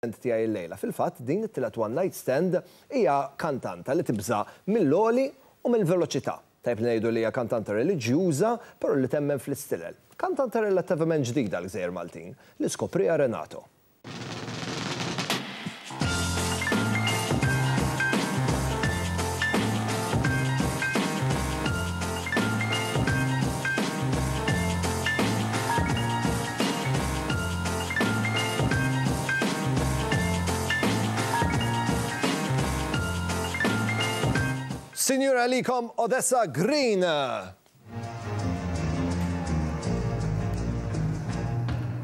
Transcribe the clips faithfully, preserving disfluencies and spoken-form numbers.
Tiegħi llejla. Fil-fatt, din it-tielet one night stand hija kantanta li tibża' mill-għoli u mill-veloċità. Tajb li ngħidu li hija kantanta reliġjuża, però li temmen fl-istilel. Kantanta relattivament ġdida l-Gżejjer Maltin li skopriha Renato. Sinjura għalikom Odessa Green.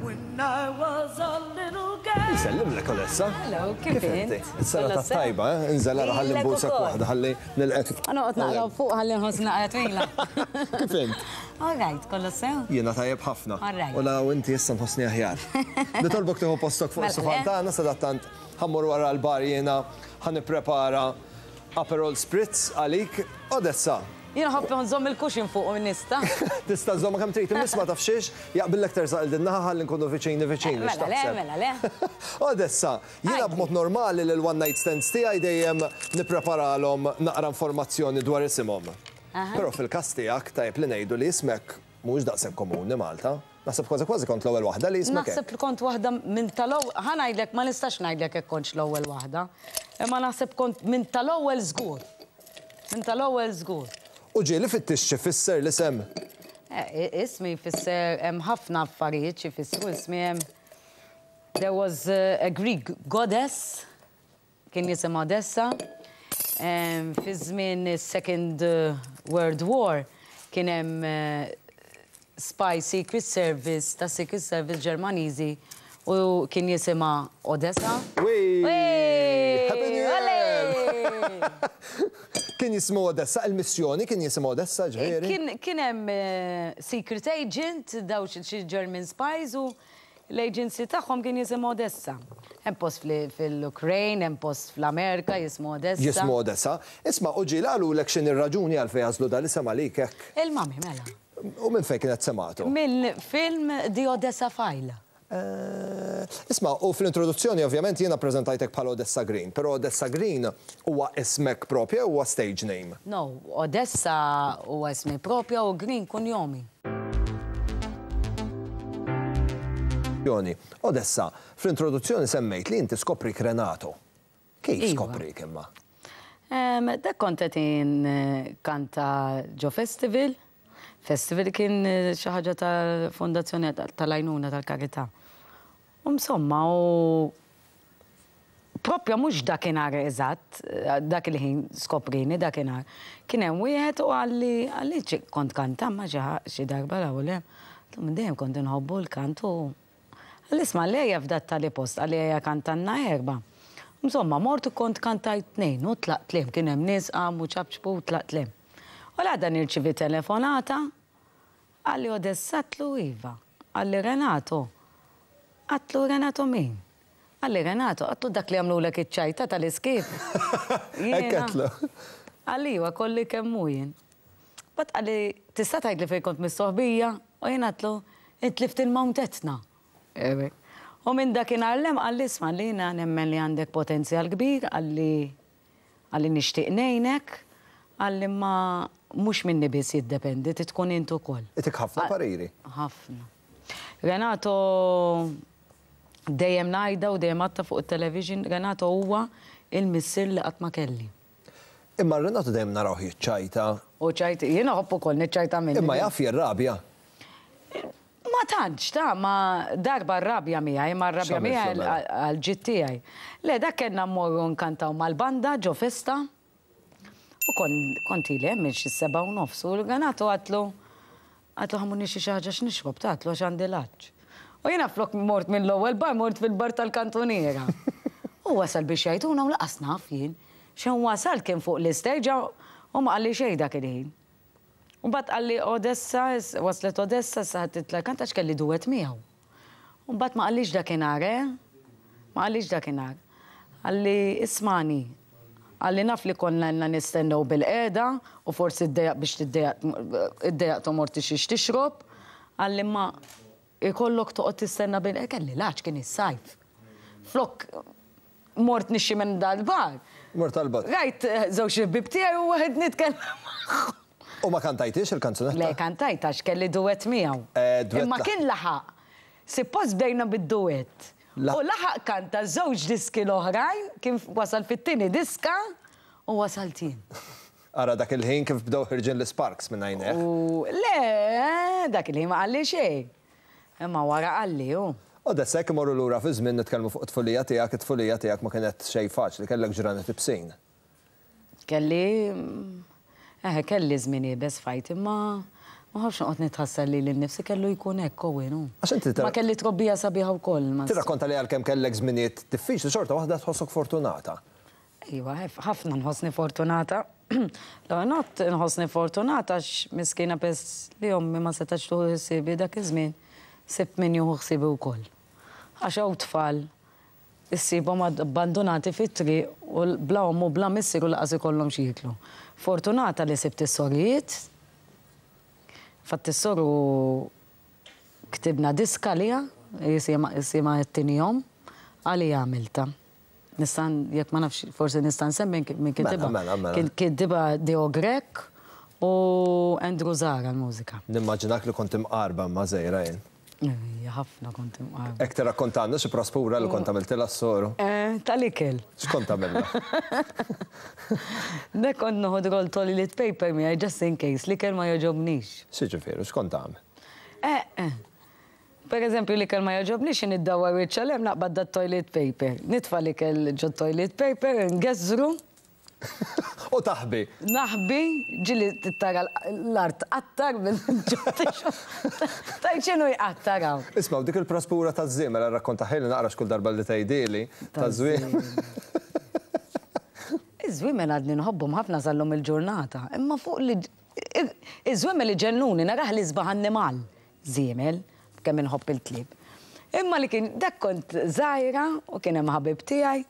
When I was a little girl. Nsellimlek, Odessa. Hello, kif int? Is-sena ta' tajba, eh? Inżel ara ħalli nbusek waħda ħalli nilqek. Noqgħod naqra fuq ħalli nħoss naqra twila. Kif int? All right, kollu sew? Jiena tajjeb ħafna. All right. U la u inti issa nħossni aħjar. Nitolbok tieħu postok fuq Mela, is-sufan le? tagħna, sadattant ħa mmur wara l-bar jiena ħa nipprepara Aperol Spritz għalik. Odessa. Jiena ħobb nżomm il-cushion fuq u nista. Tista' żomma kemm trid, imma ma taf xiex, jaqbillek tersaq il din naħa ħalli nkunu viċini viċini. Mela le, X'taħseb? Mela le. Odessa, jiena Għajdi. B'mod normali lil one night stands tiegħi dejjem nippreparalhom naqra informazzjoni dwar isimhom. Però fil-każ tiegħek tajjeb li ngħidu li ismek mhux daqshekk komuni Malta. Naħseb kważi kważi kont l-ewwel waħda li ismek hekk. Naħseb li kont waħda minn tal-ewwel, ħa ngħidlek, ma nistax ngħidlek hekk kontx l-ewwel waħda. Imma naħseb kont minn tal-ewwel żgur. Minn tal-ewwel żgur. U ġieli fittix xi fisser l-isem? Eh, Ismi jfisser, hemm ħafna affarijiet xi jfissru ismi. Hemm There was uh, a Greek goddess kien jisimha Odessa. Em, Fi żmien is-Second uh, World War kien hemm uh, spy Secret Service ta' Secret Service Ġermaniżi u kien jisimha Odessa. Wee! Wee! Happy New Year! Olé! Kien jismu Odessa, il-missjoni kien jismu Odessa, ġifieri? Kien kien hemm eh, secret agent, daw xi xi German spies, u l-agency tagħhom kien jisimhu Odessa. Hemm post fil- fil-Ukraine, hemm post fl-Amerika jismu Odessa. Jismu Odessa. Isma', u ġieli qalulek x'inhi r-raġuni għalfejn għażlu dal-isem għalik hekk? Il-mami mela. U minn fejn kienet semgħetu? Minn film The Odessa File. Eh, Isma', u fl-introduzzjoni ovvjament jiena prezentajtek bħala Odessa Green, però Odessa Green huwa ismek propju, huwa stage name? No, Odessa huwa ismi propja u Green kunjomi. Joni, Odessa, fl-introduzzjoni semmejt li inti skoprik Renato. Kif Iva. skoprik imma? Em, Dak kont qed kanta ġo festival. Festival kien eh, xi ħaġa tal-Fondazzjoni tal-Għajnuna tal-Karità. U insomma, u propja mhux dakinhar eżatt, eh, dak il-ħin skoprini dakinhar. Kien hemm wieħed u qalli qalli ċi- kont kanta ma xi ħa- xi darba la u le. Għedtlu, minn dejjem kont inħobbu l-kant u qalli, isma', lejja f'dat tali post, qalli ejja kantanna erba. Insomma, mort u kont kantajt tnejn u tlaqt lem, kien hemm nies qamu ċapċpu u tlaqt lem. U l-għada nirċivi telefonata, qalli, "Odessa?" Għedtlu, "Iva." Qalli, "Renato." Għedtlu, "Renato min?" Qalli, "Renato." Għedtlu, "Dak li għamlulek iċ-ċajta tal-iskip?" Hekk għedtlu. Qalli, "Iva, kolli kemm hu jien." Mbagħad qalli, "Tista' tgħid li fejn kont mistoħbija?" U jien għedtlu, "Intlift il-Mount Etna." Ewe. U minn dakinhar 'l hemm qalli, "Isma', li jiena nemmen li għandek potenzjal kbir," qalli qalli "nixtieq ngħinek," qalli, "ma mhux minni biss jiddependi, trid tkun int ukoll." Itik ħafna pariri. Ħafna. Renato, dejjem ngħidha u dejjem għedtha fuq il-television, Renato huwa il-missier li qatt ma kelli. Imma Renato dejjem narawh jiċċajta. U ċajt, jiena ħobb ukoll niċċajta minni. Imma jaf jirrabja. Ma tantx, ta' ma darba rrabja miegħi, ma rrabja X'għamilt miegħi mela? għal-ġid tiegħi. Le, dak kellna mmorru nkantaw mal-banda ġo festa. U kon kont ili hemm minn xi seba' u nofs u Renato għedtlu għedtlu ħa mmur nixtri xi ħaġa x'nixrob, ta, għedtlu, għax għandi l-għatx. U jiena flok mort minn l-ewwel bar mort fil-bar tal-kantuniera. U wasal biex jgħiduna u lanqas naf jien. Xejn wasal kien fuq l-istage u ma qalli xejn dak il-ħin. U mbagħad qalli, "Odessa, waslet Odessa, sa titla' kanta," għax kelli duet miegħu. U mbagħad ma qallix dakinhar, eh? Ma qallix dakinhar. Qalli, "Ismagħni." Qalli, "Naf li konna ilna nistennew bil-qiegħda u forsi ddejjaq biex tiddejjaq iddejjaqt u mort xiex tixrob." Qalli, "Ma ikollok toqgħod tistenna bil kelli l-għatx, kien is-sajf. Flok mort nixxi minn dal-bar. Mort għal-bar. Rajt żewġ ħbieb tiegħi u waħed nitkellem magħhom. U ma kantajtix il-kanzunetta? Le, kantajt għax kelli duet miegħu. Imma kien laħaq. Suppost bdejna bid-duet. U laħaq kanta żewġ diski l-oħrajn, kien wasal fit-tieni diska u wasalt jien. Ara dak il-ħin kif bdew ħirġin l-sparks minn għajnejh. U le, dak il-ħin ma qalli xejn. Imma wara qalli hu. U daqshekk imorru lura fi żmien nitkellmu fuq it-tfulija tiegħek, it-tfulija tiegħek ma kienet xejn faċli, kellek ġranet ibsin. Kelli Eh, kelli żmien iebes fajt, imma ma ħafx noqgħod nitħassar lili nnifsi kellu jkun hekk Owen. Għax inti Ma kelli trobbija sabiħa wkoll. Tirrakkonta li għalkemm kellek żminijiet diffiċli xorta waħda tħossok fortunata. Iva, ħafna nħossni fortunata. L-ewwel nett nħossni fortunata għax miskina pes li ommi ma setax tieħu ħsiebi dak iż-żmien, sibt min jieħu ħsiebi wkoll. Għax hawn tfal issibhom abbandonati fit-triq u bla omm u bla missier u lanqas ikollhom xi jieklu. Fortunata li sibt is-sorijiet. Fatt is-soru ktibna diska għaliha, jisimha t-tieni jom, għalija għamilta. Nista' jekk ma nafx, forsi nista' nsemmi min kitibha. Mela, mela. Kien kitibha Deo Grech u Andrew Zara l-mużika. Nimmaġinak li kont imqarba ma' żgħira jien. Ejja, ħafna kont imqarba. Hekk tirrakkontanna xi praspura li kont għamiltilha s-soru. Eh, tal-ikel. X'kont għamilha? Dak kont noħod roll toilet paper miegħi just in case l-ikel ma jogħġobnix. X'jiġifieri, x'kont tagħmel? Eh, eh. Per eżempju, l-ikel ma jogħġobnix niddawwar wiċċ għal hemm naqbad dat toilet paper. Nitfa' l-ikel ġo toilet paper, ngeżżru. U taħbi. Naħbi, ġieli tara l-art qattar bil-ġottixu. Tajt x'inhu jqattar hawn. Isma' dik il-praspura taż-żiemel rrakkontahieli naqra x'kull darba li tgħidili taż-żwiemel. Iż-żwiemel għadni nħobbhom ħafna sal-lum il-ġurnata, imma fuq li iż-żwiemel iġennuni narah li sbaħ annimal. Żiemel, kemm inħobb il-klieb. Imma li kien dak kont żgħira u kien hemm ħabib tiegħi.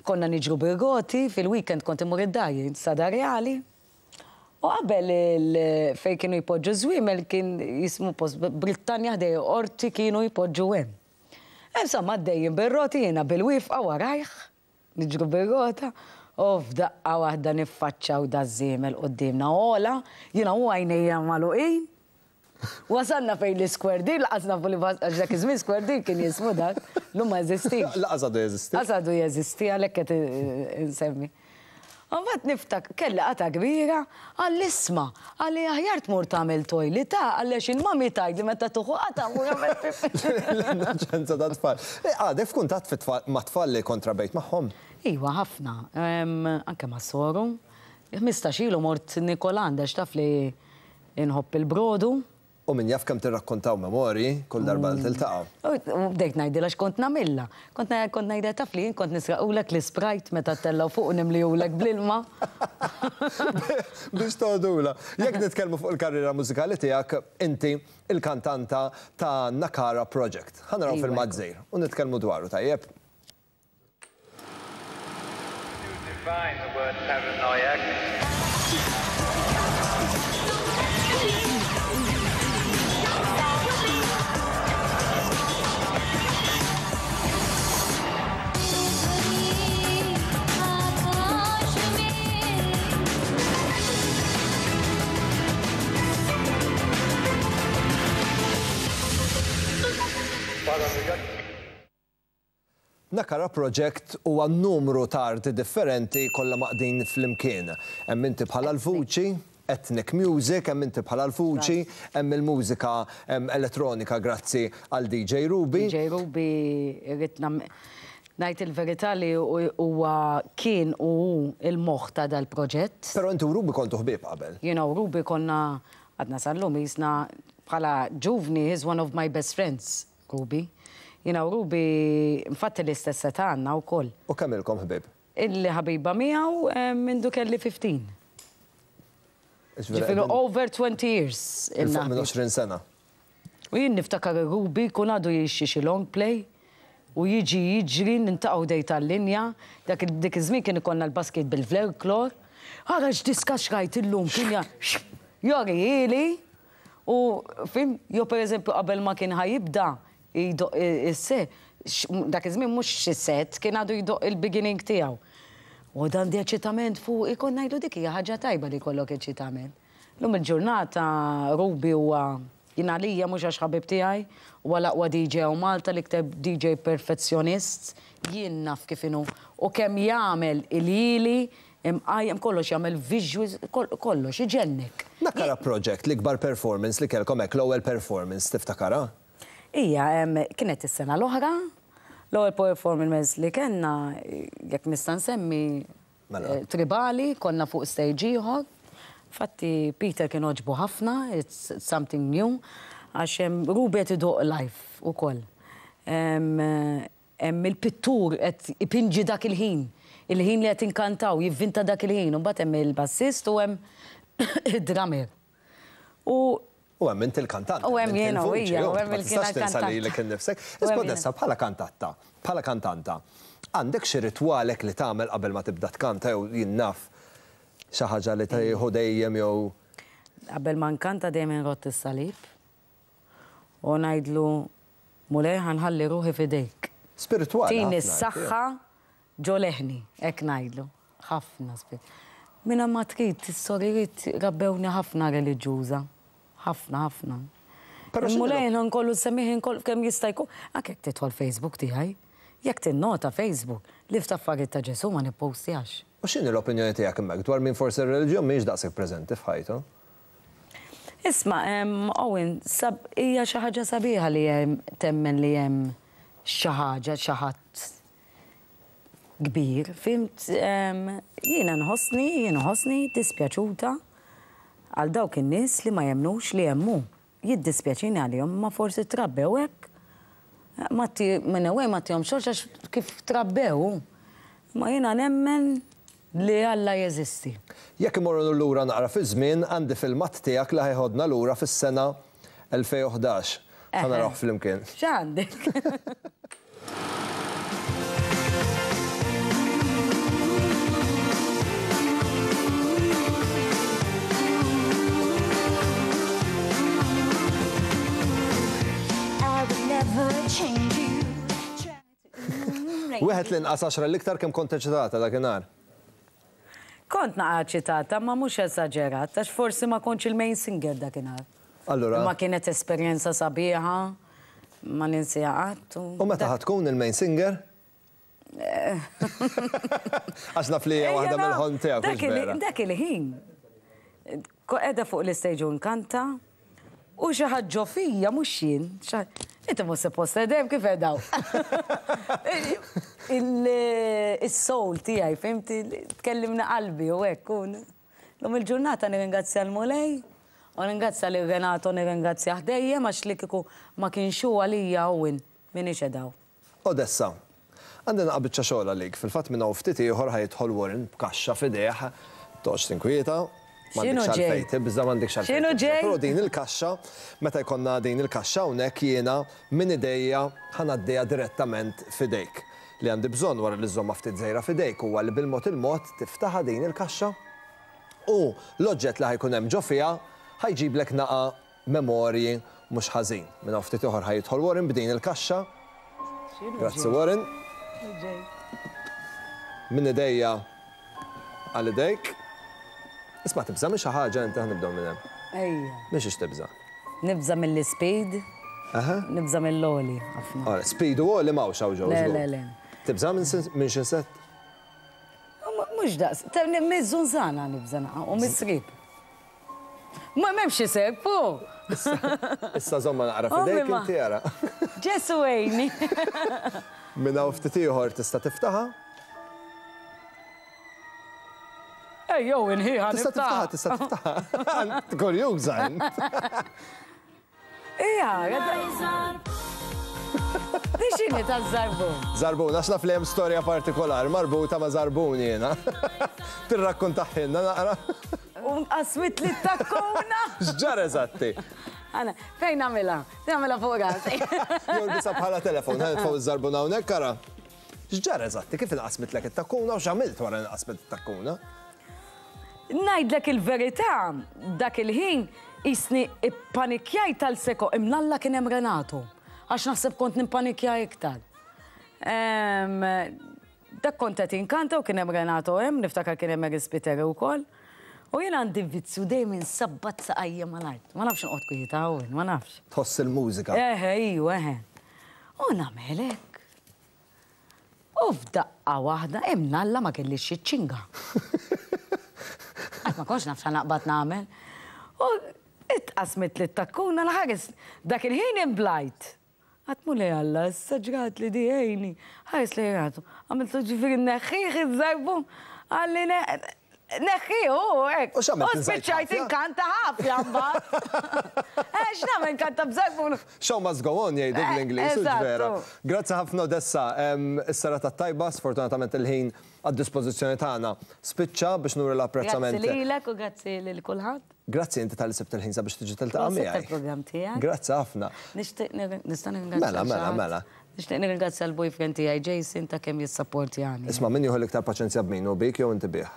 Konna niġru bir-roti, fil-weekend kont immur id-dar jien Sada Reali. U qabel fejn kienu jpoġġu żwiemel kien jismu post Brittanja ħdej qorti kienu jpoġġu hemm. Insomma għaddejjin bir-roti jiena bil-wifqa warajh, niġru bir-rota, u f'daqqa waħda niffaċċaw daż-żiemel quddiemna ola, jiena u għajnejja magħluqin. Wasalna fejn l-Square Deal, laqas nafu li għax dak iż-żmien Square Deal kien jismu dak, llum ma jeżistix. Laqas għadu jeżisti. Laqas għadu jeżisti għalhekk qed insemmi. U mbagħad niftak kelli qata kbira, qal isma', qalli aħjar tmur tagħmel toilet, ta' qalli għax il-mami tgħidli meta tuħu qata mur għamel pipi. L-innoċenza ta' tfal. Għadek f'kuntatt ma' tfal li kont trabejt magħhom? Iva, ħafna. Anke ma' soru. Ħmistax ilu mort Nikolanda x'taf li inħobb il-brodu. U min jaf kemm tirrakkontaw memorji kull darba li tiltaqgħu. U bdejt ngħidilha x'kont nagħmilha. Kont kont ngħidilha taf li jien kont nisraqulek l-Sprite meta ttellgħu fuq u nimlihulek bl-ilma. Biex toħdula. Jekk nitkellmu fuq il-karriera mużikali tiegħek, inti il-kantanta ta' Nakara Project. Ħa naraw filmat żgħir u nitkellmu dwaru, tajjeb? Define the word paranoiac. Nakara Project huwa numru ta' arti differenti kollha maqdin flimkien. Hemm inti bħala l-vuċi, ethnic music, hemm inti bħala l-vuċi, hemm il-mużika elettronika grazzi għal D J Ruby. D J Ruby irrid ngħid il-verità li huwa kien u hu il-moħħ ta' dal-proġett. Però inti u Ruby kontu ħbieb qabel. Jiena u Ruby konna għadna sal-lum jisna bħala ġuvni, he's one of my best friends, Ruby. Jiena u Ruby, infatti l-istess età għandna wkoll. U kemm ilkom ħbieb? Illi ħabiba miegħu mindu kelli fifteen. Ġifieri over twenty years. Il fuq minn għoxrin sena. U jien niftakar Ruby kun għadu jixxi xi long play u jiġi jiġri nintaqgħu dej tal-linja, dak dik iż-żmien kien ikollna l-basket bil-folklor. Ara x'diska xrajt illum kien jorijieli u fim, jo pereżempju qabel ma kien ħajibda jdoq is-se, Dak iż-żmien mhux xi set, kien għadu jdoqq il-beginning tiegħu. U dan di eċitament fuq, ikon ngħidu dik hija ħaġa tajba li jkollok eċitament. Lum il-ġurnata Ruby huwa jien għalija mhux għax ħabib tiegħi, huwa l-aqwa D J u Malta, l-iktar D J perfezzjonist, jien naf kif inhu u kemm jagħmel il-ili imqajjem kollox, jagħmel visuals, kollox iġennek. Nakara Project, l-ikbar performance li kellkom hekk, l-ewwel performance tiftakara? Ija, kienet is-sena l-oħra, l-ewwel performance li kellna, jekk nista' nsemmi, Mela. eh, tribali, konna fuq stage ieħor. Fatti Peter kien oġbu ħafna, it's something new, għax hemm Ruby qed idoqq live ukoll. Hemm il-pittur qed ipinġi dak il-ħin, il-ħin li qed inkantaw, jivvinta dak il-ħin, u mbagħad hemm il-bassist u hemm id-drummer. U U hemm inti l-kantant. U hemm inti jiena, u l-vuċi, hija, u u hemm ma il-kien tistax tinsa il-kantant. lilek innifsek. U hemm Isma' Dessa, bħala kantatta, bħala kantanta, għandek xi ritwalek li tagħmel qabel ma tibda tkanta jew jien naf xi ħaġa li tieħu dejjem jew Qabel ma nkanta dejjem inrott is-salib u ngħidlu: "Mulej, ħa nħalli ruħi f'idejk." Spiritwali Tini ħafna, s-saħħa ġo leħni, hekk ngħidlu. Ħafna spir. Minna ma trid, is-sorijiet rabbewni ħafna reliġjuża. Ħafna, ħafna. Però x'inhu Mulej nkollu semmih nkollu kemm jista' jkun. Anke jekk tidħol Facebook tiegħi, jekk tinnota Facebook, li f'affarijiet ta' Ġesu ma nippostjax. U x'inhi l-opinjoni tiegħek hemmhekk dwar min forsi r-reliġjon mhix daqshekk preżenti f'ħajtu? Isma', em, Owen, sab, hija xi ħaġa sabiħa li hemm temmen li hemm xi ħaġa, xi ħadd kbir, fhimt, em, jiena nħossni, jiena nħossni dispjaċuta għal dawk in-nies li ma jemnux li hemm hu. Jiddispjaċini għalihom, ma forsi trabbew hekk. Ma ti, minn away ma tihom xorx għax kif trabbew. Ma jiena nemmen li Alla jeżisti. Jekk imorru lura naqra fi żmien, għandi filmat tiegħek li ħa jeħodna lura fis-sena elfejn u ħdax. Ħa narawh flimkien. X'għandek? I would never change you. Wieħed l-inqas għaxra l-iktar kemm kont eċitata dakinhar? Kont naqa eċitata, ma mhux esaġerat, għax forsi ma kontx il-main singer dakinhar. Allura, Ma kienet esperjenza sabiħa, ma ninsiha qatt. U meta ħa tkun il-main singer? Għax naf li hija waħda mill-ħolm tiegħek, Dak mhux il- vera? Dak il-ħin. Qiegħda fuq l-istage u nkanta, u xi ħadd ġo fija mhux jien. Inti mhux suppost edem kif edaw. Il-soul tiegħi, fhimti, tkellimna qalbi u hekk. Lum il-ġurnata nirringrazzja l-Mulej, u nirringrazzja lil Renato, nirringrazzja dejjem għax li kieku ma kienx hu għalija Owen m'iniex edaw. Odessa, għandna biċċa xogħol għalik. Fil-fatt minn hawn ftit ieħor ħa jidħol Warren b'kaxxa f'idejh, toqgħodx tinkwieta. X'inhu M'għandekx ġej? għalfejn tibża', m'għandekx għalfejn X'inhu tibża'. ġej? Però din il-kaxxa, meta jkollna din il-kaxxa hawnhekk jiena minn idejja ħa ngħaddiha direttament f'idejk. Li għandi bżonn wara li żomma ftit żgħira f'idejk huwa li bil-mod il-mod tiftaħa din il-kaxxa u l-oġġett li ħa jkun hemm ġo fiha ħa jġiblek naqa memorji mhux ħażin. Minn hawn ftit ieħor ħa jidħol Warren b'din il-kaxxa. Grazzi, Warren. Minn idejja għal idejk. Isma', tibża' minn xi ħaġa inti? Ħa nibdew minn hemm. Ejja. Minn xiex tibża'? Nibża' mill-speed, Aha. nibża' mill-għoli ħafna. Ora, speed u għoli m'hawnx hawn ġew. Le, żgur. le, le. Tibża' minn sin- minn xi insett? Mhux daqs, miż-żunżana nibża' naqa' u mis-srib. Ma m'hemmx isek, pu. Issa żomma naqra Ommi f'idejk ma- inti ara. Ġesu għejni. Minn hawn ftit ieħor tista' tiftaħa. Ej, jow, inħiħa Tista' tiftaħa, tista' tiftaħa. Kurjuża int. Ija, di xini ta' żarbun? Żarbun, għax naf li hemm storja partikolari marbuta ma' żarbun jiena. Tirrakkontaħilna naqra. U qasmit li takkuna. X'ġara eżatti? Għana, fejn nagħmilha? Nagħmilha fuq rasi. Jew bisa bħala telefon, ħa nitfgħu iż-żarbun hawnhekk ara. X'ġara eżatti? Kif inqasmitlek it-takkuna u x'għamilt wara inqasmet it-takkuna? Ngħidlek il-verità, dak il-ħin jisni ippanikjajt tal-seko imnalla kien hemm Renato. Għax naħseb kont nimpanikja iktar. Em, Dak kont qed inkanta u kien hemm Renato hemm, niftakar kien hemm Eris Spiteri wkoll. U jien għandi vizzju dejjem insabbat saqajja mal-art. Ma nafx noqgħod kwieta hawn, ma nafx. Tħoss il-mużika. Eħe, iju, eħe. U nagħmel hekk. U f'daqqa waħda imnalla ma kellix xi ċinga. Għax ma kontx naf naqbad nagħmel. U itqasmet li t-takkuna l-ħares. Dak il-ħin imblajt. Għedt Mulej Alla, issa ġrat li diħejni. Ħares li għatu. Għamiltu ġifieri neħħih iż-żarbun. Qalli neħħih, u hekk. U x'għamilt, U spiċċajt inżajt inkanta ħafja mbagħad. Eh, x'nagħmel inkanta b'żarbun? Show must go on, jgħidu Eh, bl-Ingliż, u eżattu. vera. Grazzi ħafna, Odessa. Em, Is-serata tajba, sfortunatament il-ħin għad-dispożizzjoni tagħna spiċċa biex nuri l-apprezzament. Grazzi lilek u grazzi lil kulħadd. Grazzi inti talli sibt il-ħin sabiex tiġi tiltaqa' Prosit miegħi. tal-programm tiegħek. Grazzi ħafna. Nixtieq nir- nista' nirringrazzja Mela, mela, xi ħadd? mela. Nixtieq nirringrazzja l-boyfriend tiegħi Jason ta' kemm jissapportjani. Isma' min jieħu l-iktar paċenzja b'min u bik jew inti bih?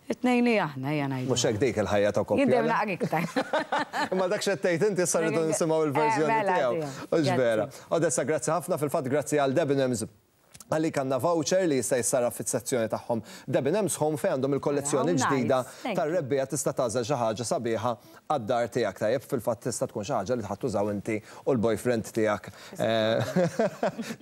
It-tnejn li aħna ejja ngħidu. Mhux hekk dik il-ħajja ta' koppja. Jien dejjem le? naqra iktar. Imma dak xettejt inti issa rridu nisimgħu il-verżjoni Eh, mela, tiegħu. tiegħu. Hux vera. Grazzi. Odessa, grazzi ħafna, fil-fatt grazzi għal Debenhams għalik għandna voucher li jista' jissarraf fis-sezzjoni tagħhom Debenhams Home fejn għandhom il-kollezzjoni How nice. ġdida Thank you. tar-rebbiegħa, tista' tagħżel xi ħaġa sabiħa għad-dar tiegħek, tajjeb, fil-fatt tista' tkun xi ħaġa li ħadd tużaw inti u l-boyfriend tiegħek. Eh,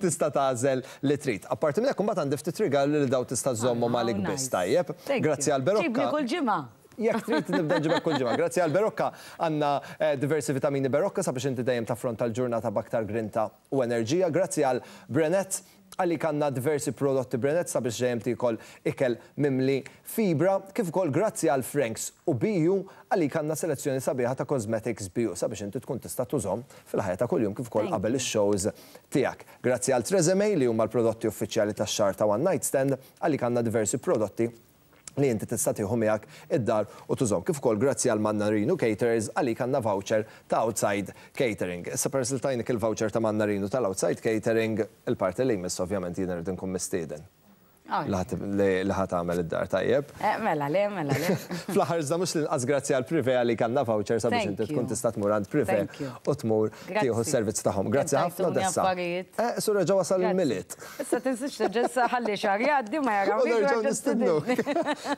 Tista' tagħżel li trid. Apparti minn hekk imbagħad għandi ftit rigali li daw tista' żommhom Oh, għalik nice. biss, tajjeb. Thank Grazzi you. għal Berocca. Ġibni kull ġimgħa. Jekk trid nibda nġibek kull ġimgħa. Grazzi għal Berocca għandna eh, diversi vitamini Berocca sabiex inti dejjem taffronta l-ġurnata b'aktar grinta u enerġija. Grazzi għal Brenet għalik għandna diversi prodotti Brenet sabiex dejjem tikol ikel mimli fibra, kif ukoll grazzi għal Franks u B U għalik għandna selezzjoni sabiħa ta' cosmetics B U sabiex inti tkun tista' tużhom fil-ħajja ta' kuljum kif ukoll Thank qabel ix-shows tiegħek. Grazzi għal Tresemme li huma l-prodotti uffiċjali tax-xahar ta' One Night Stand, għalik għandna diversi prodotti li inti tista' tieħu miegħek id-dar u tużhom. Kif ukoll grazzi għal Mannarino Caterers għalik għandna voucher ta' outside catering. Issa peress li tajnik il-voucher ta' Mannarino tal-outside catering, il-parti li jmiss ovvjament jien irid inkun mistieden. Li ħa tagħmel id-dar, tajjeb. Eh, mela, le, mela, le. Fl-aħħar iżda mhux l-inqas grazzi għal Privé għalik għandna voucher sabiex inti tkun tista' tmur għand Privé u tmur tieħu s-servizz tagħhom. Grazzi ħafna, Odessa. Eh, Sura ġewwa sal il-Milied. Issa tinsiex ġessa ħalli xahar jgħaddi ma jaraw. U nerġgħu nistidnuk.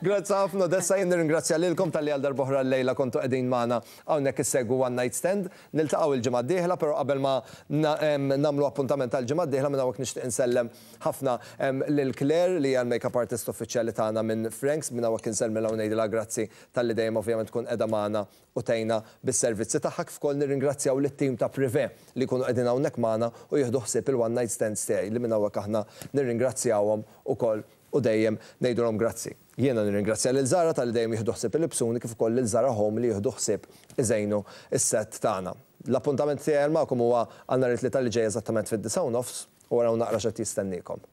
Grazzi ħafna, Odessa, jien nirringrazzja lilkom talli għal darb'oħra llejla kontu qegħdin magħna hawnhekk issegwu One Night Stand. Niltaqgħu il-ġimgħa d-dieħla, però qabel ma nagħmlu appuntament tal-ġimgħa d-dieħla minn hawnhekk nixtieq insellem ħafna lil Claire li hija l-makeup artist uffiċjali tagħna minn Franks, minn hawnhekk insellmilha u ngħidilha grazzi talli dejjem ovvjament tkun qiegħda magħna u tgħinna bis-servizzi tagħha, kif ukoll nirringrazzjaw lit-tim ta' Privé li jkunu qegħdin hawnhekk magħna u jieħdu ħsieb il-one night stands tiegħi li minn hawnhekk aħna nirringrazzjawhom ukoll u dejjem ngħidulhom grazzi. Jiena nirringrazzja lil Zara talli dejjem jieħdu ħsieb il-libsuni kif ukoll lil Zara Home li jieħdu ħsieb iżejnu is-set tagħna. L-appuntament tiegħi magħkom huwa għal nhar it-Tlieta li ġej eżattament fid-disgħa u nofs u waraw naqra x'qed jistenniekom.